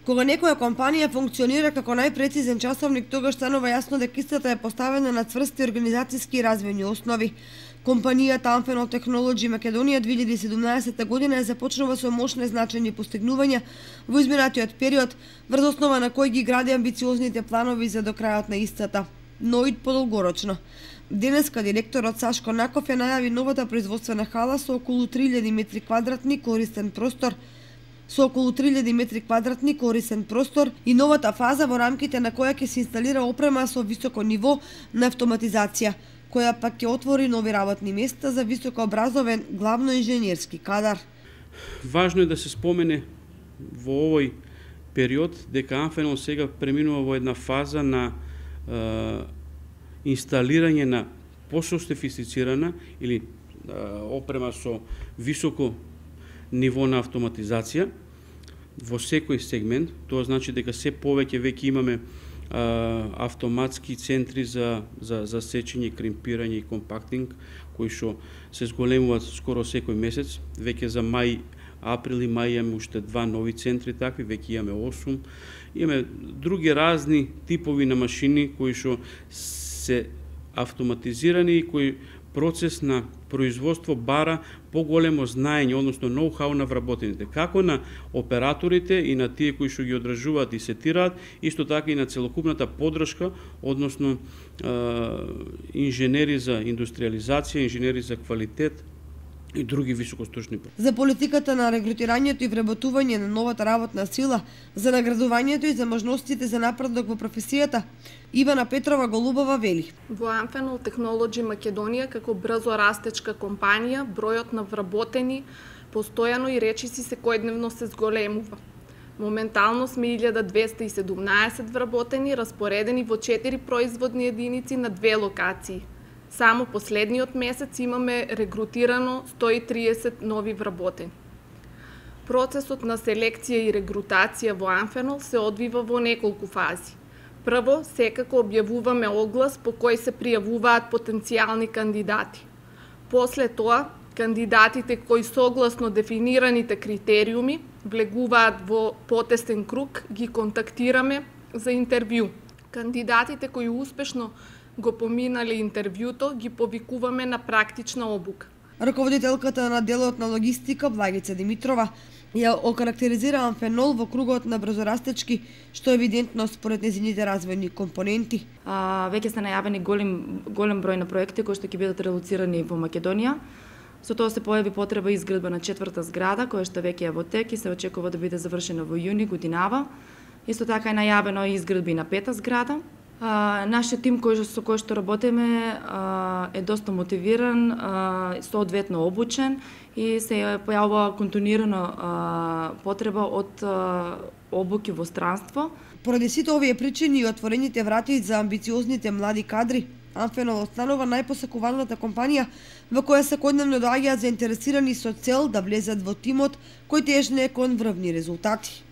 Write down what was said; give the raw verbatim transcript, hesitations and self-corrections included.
Кога некоја компанија функционира како најпрецизен часовник, тогаш станува јасно дека истата е поставена на цврсти организацијски и развојни основи. Компанијата Amphenol Technology Македонија две илјади и седумнаесетта година започнува со мощни значајни постигнувања во изминатиот период, врз основа на кој ги гради амбициозните планови за до крајот на истата, но и подолгорочно. Денеска директорот Сашко Наков ја најави новата производствена хала со околу три илјади метри квадратни користен простор, со околу три илјади метри квадратни користен простор и новата фаза во рамките на која ќе се инсталира опрема со високо ниво на автоматизација, која пак ќе отвори нови работни места за високообразовен главно инженерски кадар. Важно е да се спомене во овој период дека Amphenol сега преминува во една фаза на е, инсталирање на пософистицирана или е, опрема со високо ниво на автоматизација во секој сегмент. Тоа значи дека се повеќе веќе имаме а, автоматски центри за, за, за сечење, кремпирање и компактинг, кои што се зголемуваат скоро секој месец. Веќе за мај, април и мај имаме уште два нови центри такви, веќе имаме осум. Имаме други разни типови на машини кои што се автоматизирани и кои процес на производство бара поголемо знаење, односно ноу-хау на вработените, како на операторите и на тие кои што ги одржуваат и сетираат, исто така и на целокупната поддршка, односно е, инженери за индустриализација, инженери за квалитет и други високостручни. За политиката на регрутирањето и вработување на новата работна сила, за наградувањето и за можностите за напредок во професијата, Ивана Петрова Голубова вели: Во Amphenol Technology Македонија како брзо растечка компанија, бројот на вработени постојано и речиси секојдневно се зголемува. Моментално сме илјада двесте и седумнаесет вработени, распоредени во четири производни единици на две локации. Само последниот месец имаме регрутирано сто и триесет нови вработени. Процесот на селекција и регрутација во Amphenol се одвива во неколку фази. Прво, секако објавуваме оглас по кој се пријавуваат потенцијални кандидати. После тоа, кандидатите кои согласно дефинираните критериуми влегуваат во потесен круг, ги контактираме за интервју. Кандидатите кои успешно го поминали интервјуто, ги повикуваме на практична обука. Раководителката на делот на логистика Благица Димитрова ја окарактеризира Amphenol во кругот на брзорастечки, што е евидентно според незините развојни компоненти. А, веќе се најавени голем, голем број на проекти кои што ќе бидат релоцирани во Македонија. Со тоа се појави потреба изградба на четврта зграда, која што веќе е во тек и се очекува да биде завршена во јуни годинава. Исто така е најавено и изградби на пета зграда. А, нашиот тим кој, со кој што работиме а, е доста мотивиран, а, соодветно обучен и се појавува континуирано а, потреба од а, обуки во странство. Поради сите овие причини и отворените врати за амбициозните млади кадри, Amphenol останува најпосакуваната компанија во која секојдневно доаѓаат заинтересирани со цел да влезат во тимот кој тежне кон врвни резултати.